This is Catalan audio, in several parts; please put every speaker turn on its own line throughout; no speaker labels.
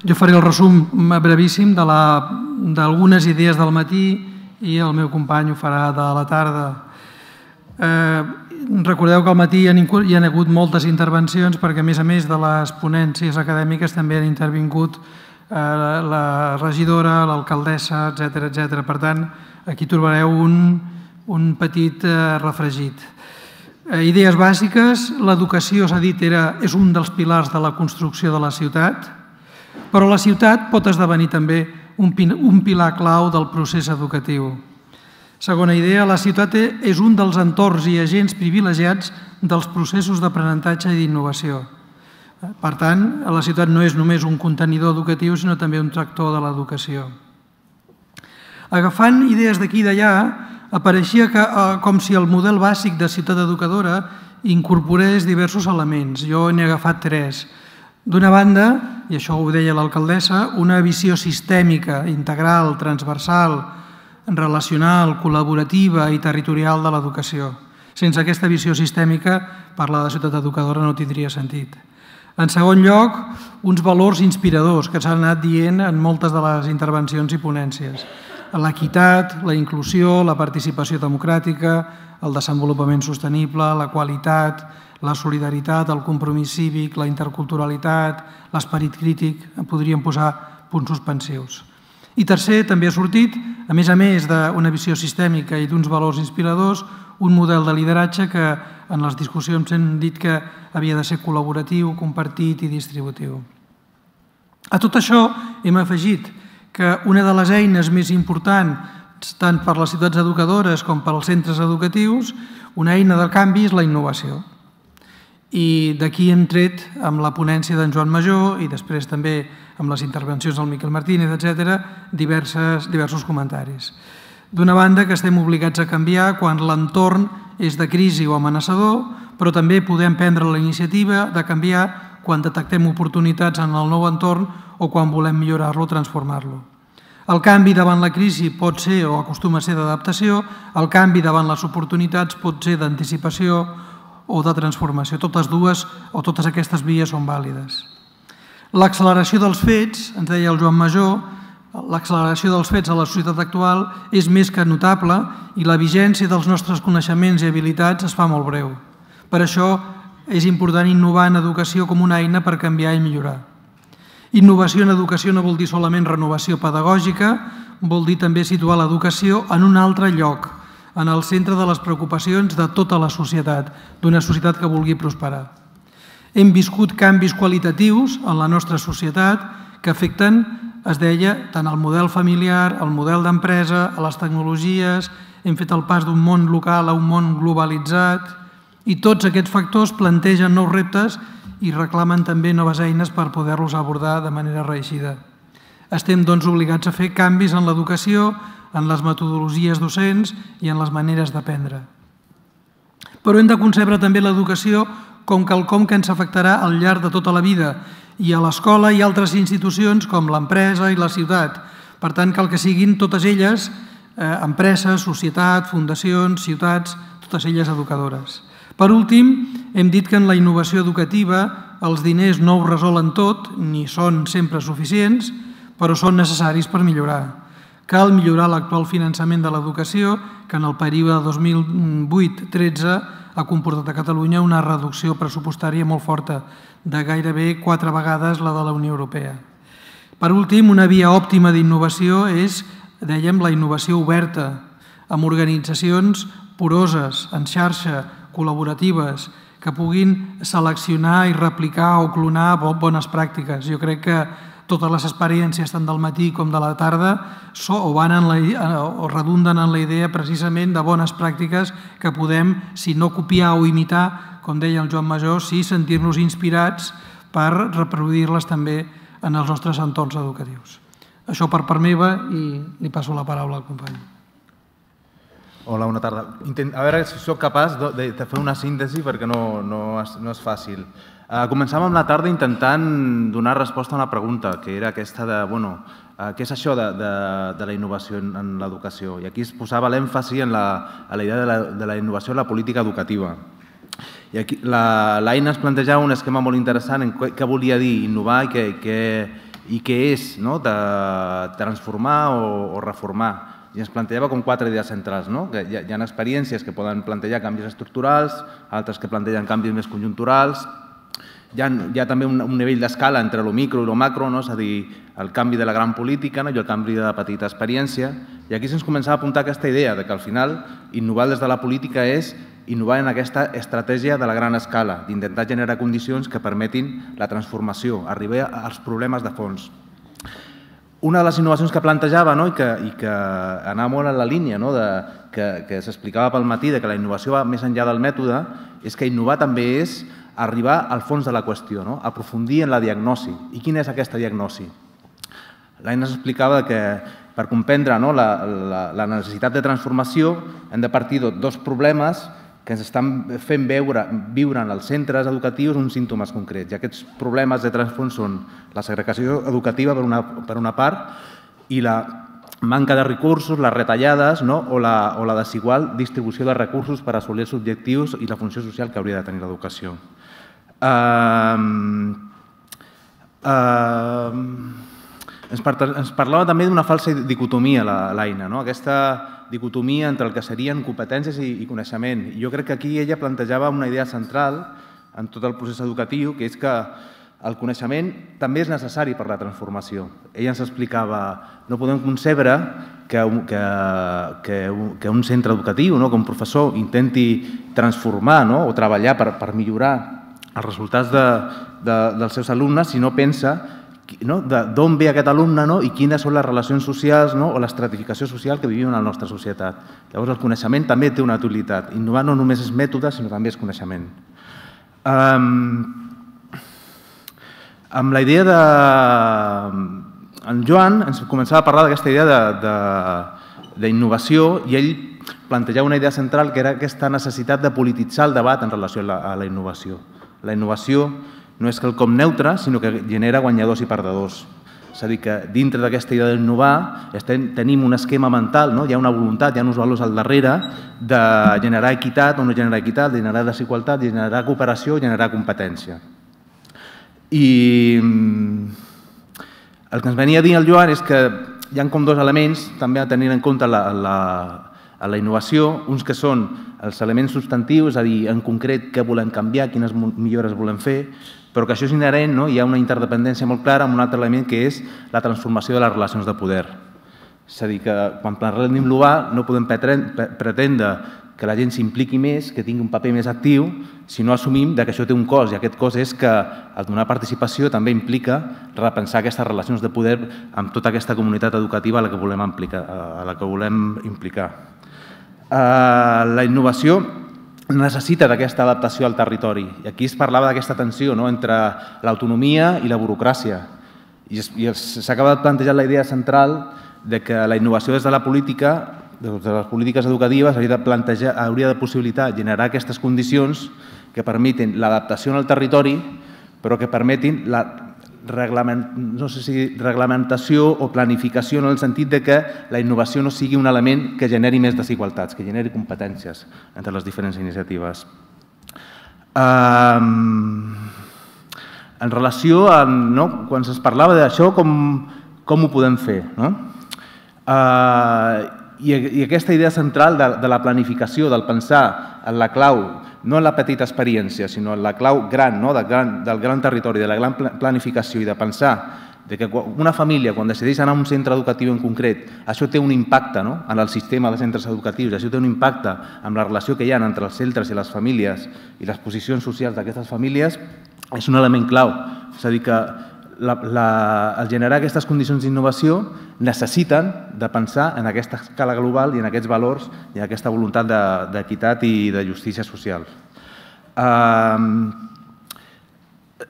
Jo faré el resum brevíssim d'algunes idees del matí i el meu company ho farà de la tarda. Recordeu que al matí hi ha hagut moltes intervencions perquè, a més de les ponències acadèmiques, també han intervingut la regidora, l'alcaldessa, etc. Per tant, aquí trobareu un petit refregit. Idees bàsiques. L'educació, s'ha dit, és un dels pilars de la construcció de la ciutat, però la ciutat pot esdevenir també un pilar clau del procés educatiu. Segona idea, la ciutat és un dels entorns i agents privilegiats dels processos d'aprenentatge i d'innovació. Per tant, la ciutat no és només un contenidor educatiu, sinó també un tractor de l'educació. Agafant idees d'aquí i d'allà, apareixia com si el model bàsic de ciutat educadora incorporés diversos elements. Jo n'he agafat 3. D'una banda, i això ho deia l'alcaldessa, una visió sistèmica, integral, transversal, relacional, col·laborativa i territorial de l'educació. Sense aquesta visió sistèmica, parlar de ciutat educadora no tindria sentit. En segon lloc, uns valors inspiradors que s'han anat dient en moltes de les intervencions i ponències. L'equitat, la inclusió, la participació democràtica, el desenvolupament sostenible, la qualitat, la solidaritat, el compromís cívic, la interculturalitat, l'esperit crític, en podríem posar punts suspensius. I tercer, també ha sortit, a més d'una visió sistèmica i d'uns valors inspiradors, un model de lideratge que en les discussions hem dit que havia de ser col·laboratiu, compartit i distributiu. A tot això hem afegit que una de les eines més importants, tant per les ciutats educadores com per als centres educatius, una eina del canvi és la innovació. I d'aquí hem tret amb la ponència d'en Joan Majó i després també amb les intervencions del Miquel Martínez, etc., diversos comentaris. D'una banda, que estem obligats a canviar quan l'entorn és de crisi o amenaçador, però també podem prendre la iniciativa de canviar quan detectem oportunitats en el nou entorn o quan volem millorar-lo o transformar-lo. El canvi davant la crisi pot ser o acostuma a ser d'adaptació, el canvi davant les oportunitats pot ser d'anticipació o de transformació. Totes dues o totes aquestes vies són vàlides. L'acceleració dels fets, ens deia el Joan Majó, l'acceleració dels fets a la societat actual és més que notable i la vigència dels nostres coneixements i habilitats es fa molt breu. Per això és important innovar en educació com una eina per canviar i millorar. Innovació en educació no vol dir solament renovació pedagògica, vol dir també situar l'educació en un altre lloc, en el centre de les preocupacions de tota la societat, d'una societat que vulgui prosperar. Hem viscut canvis qualitatius en la nostra societat que afecten, es deia, tant el model familiar, el model d'empresa, a les tecnologies, hem fet el pas d'un món local a un món globalitzat i tots aquests factors plantegen nous reptes i reclamen també noves eines per poder-los abordar de manera reeixida. Estem, doncs, obligats a fer canvis en l'educació, en les metodologies docents i en les maneres d'aprendre. Però hem de concebre també l'educació com quelcom que ens afectarà al llarg de tota la vida i a l'escola i altres institucions com l'empresa i la ciutat. Per tant, cal que siguin totes elles, empreses, societat, fundacions, ciutats, totes elles educadores. Per últim, hem dit que en la innovació educativa els diners no ho resolen tot, ni són sempre suficients, però són necessaris per millorar. Cal millorar l'actual finançament de l'educació, que en el període 2008-13 ha comportat a Catalunya una reducció pressupostària molt forta, de gairebé 4 vegades la de la Unió Europea. Per últim, una via òptima d'innovació és, dèiem, la innovació oberta, amb organitzacions poroses, en xarxa, col·laboratives, que puguin seleccionar i replicar o clonar bones pràctiques. Jo crec que totes les experiències, tant del matí com de la tarda, redunden en la idea precisament de bones pràctiques que podem, si no copiar o imitar, com deia el Joan Majó, sí sentir-nos inspirats per reproduir-les també en els nostres entorns educatius. Això per part meva i li passo la paraula al company.
Hola, bona tarda. A veure si soc capaç de fer una síntesi perquè no és fàcil. Començàvem amb la tarda intentant donar resposta a una pregunta, que era aquesta de, què és això de la innovació en l'educació? I aquí es posava l'èmfasi en la idea de la innovació en la política educativa. I aquí l'Aina ens plantejava un esquema molt interessant en què volia dir innovar i i què és de transformar o reformar. I ens plantejava com 4 idees centrals. Hi ha experiències que poden plantejar canvis estructurals, altres que plantegen canvis més conjunturals. Hi ha també un nivell d'escala entre el micro i el macro, és a dir, el canvi de la gran política i el canvi de la petita experiència. I aquí se'ns començava a apuntar aquesta idea que al final innovar des de la política és innovar en aquesta estratègia de la gran escala, d'intentar generar condicions que permetin la transformació, arribar als problemes de fons. Una de les innovacions que plantejava i que anava molt en la línia que s'explicava pel matí, que la innovació va més enllà del mètode, és que innovar també és arribar al fons de la qüestió, aprofundir en la diagnosi. I quina és aquesta diagnosi? L'Aina ens explicava que per comprendre la necessitat de transformació hem de partir de 2 problemes que ens estan fent viure en els centres educatius uns símptomes concrets. I aquests problemes de transfons són la segregació educativa per una part i la manca de recursos, les retallades o la desigual distribució de recursos per assolir els objectius i la funció social que hauria de tenir l'educació. Ens parlava també d'una falsa dicotomia, l'Aina, aquesta dicotomia entre el que serien competències i coneixement. Jo crec que aquí ella plantejava una idea central en tot el procés educatiu, que és que el coneixement també és necessari per la transformació. Ella ens explicava, no podem concebre que un centre educatiu, que un professor intenti transformar o treballar per millorar els resultats dels seus alumnes si no pensa d'on ve aquest alumne i quines són les relacions socials o l'estratificació social que vivim en la nostra societat. Llavors, el coneixement també té una utilitat. Innovar no només és mètode, sinó també és coneixement. Amb la idea de... En Joan ens començava a parlar d'aquesta idea d'innovació i ell plantejava una idea central que era aquesta necessitat de polititzar el debat en relació a la innovació. La innovació no és quelcom neutre, sinó que genera guanyadors i perdedors. És a dir, que dintre d'aquesta idea d'innovar tenim un esquema mental, hi ha una voluntat, hi ha uns valors al darrere de generar equitat o no generar equitat, generar desigualtat, generar cooperació, generar competència. I el que ens venia a dir el Joan és que hi ha com 2 elements també a tenir en compte a la innovació, uns que són els elements substantius, és a dir, en concret què volem canviar, quines millores volem fer, però que això és inherent, hi ha una interdependència molt clara amb un altre element que és la transformació de les relacions de poder. És a dir, que quan parlem d'innovar no podem pretendre que la gent s'impliqui més, que tingui un paper més actiu, si no assumim que això té un cost, i aquest cost és que el donar participació també implica repensar aquestes relacions de poder amb tota aquesta comunitat educativa a la que volem implicar. La innovació necessita d'aquesta adaptació al territori. I aquí es parlava d'aquesta tensió entre l'autonomia i la burocràcia. I s'acaba plantejant la idea central que la innovació des de la política, des de les polítiques educatives, hauria de possibilitar generar aquestes condicions que permetin l'adaptació al territori, però que permetin la reglamentació o planificació en el sentit que la innovació no sigui un element que generi més desigualtats, que generi competències entre les diferents iniciatives. En relació a quan es parlava d'això, com ho podem fer? I aquesta idea central de la planificació, del pensar en la clau, no en la petita experiència, sinó en la clau gran, del gran territori, de la gran planificació i de pensar que una família, quan decideix anar a un centre educatiu en concret, això té un impacte en el sistema de centres educatius, això té un impacte en la relació que hi ha entre els centres i les famílies i les posicions socials d'aquestes famílies, és un element clau. És a dir, que el generar aquestes condicions d'innovació necessiten de pensar en aquesta escala global i en aquests valors i en aquesta voluntat d'equitat i de justícia social.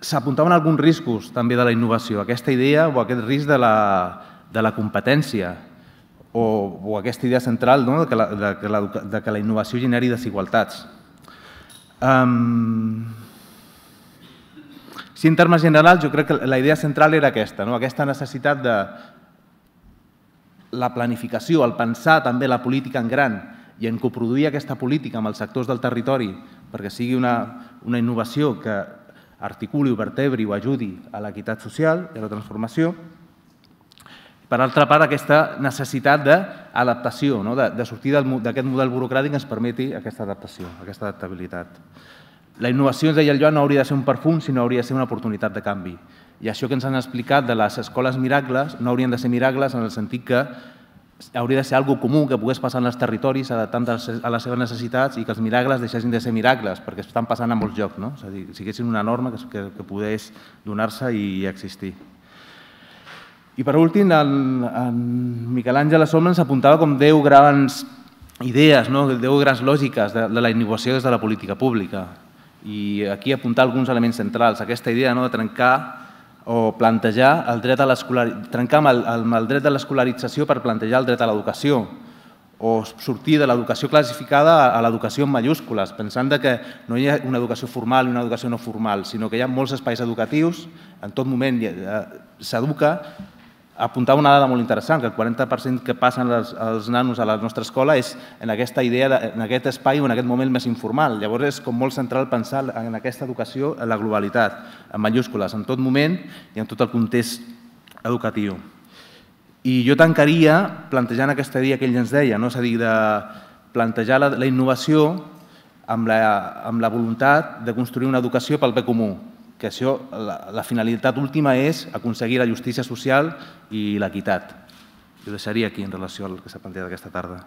S'apuntaven alguns riscos també de la innovació, aquesta idea o aquest risc de la competència o aquesta idea central de que la innovació generi desigualtats. Si en termes generals, jo crec que la idea central era aquesta necessitat de la planificació, el pensar també la política en gran i en coproduir aquesta política amb els sectors del territori perquè sigui una innovació que articuli, vertebri o ajudi a l'equitat social i a la transformació. per altra part, aquesta necessitat d'adaptació, de sortir d'aquest model burocràtic que ens permeti aquesta adaptació, aquesta adaptabilitat. La innovació, ens deia el Joan, no hauria de ser un perfum, sinó hauria de ser una oportunitat de canvi. I això que ens han explicat de les escoles miracles no haurien de ser miracles en el sentit que hauria de ser algo comú que pogués passar en els territoris adaptant a les seves necessitats i que els miracles deixessin de ser miracles, perquè estan passant a molts llocs, no? És a dir, siguessin una norma que pogués donar-se i existir. I per últim, en Miquel Àngel Assombra ens apuntava com 10 grans idees, 10 grans lògiques de la innovació des de la política pública. I aquí apuntar alguns elements centrals. Aquesta idea de trencar o plantejar el dret a l'escolarització, trencar amb el dret de l'escolarització per plantejar el dret a l'educació, o sortir de l'educació classificada a l'educació en majúscules, pensant que no hi ha una educació formal i una educació no formal, sinó que hi ha molts espais educatius, en tot moment s'educa. Apuntava una dada molt interessant, que el 40% que passen els nanos a la nostra escola és en aquesta idea, en aquest espai o en aquest moment més informal. Llavors és com molt central pensar en aquesta educació, en la globalitat, en majúscules, en tot moment i en tot el context educatiu. I jo tancaria plantejant aquesta idea que ell ens deia, és a dir, de plantejar la innovació amb la voluntat de construir una educació pel bé comú, que això, la finalitat última és aconseguir la justícia social i l'equitat. Jo deixaria aquí en relació al que s'ha plantejat aquesta tarda.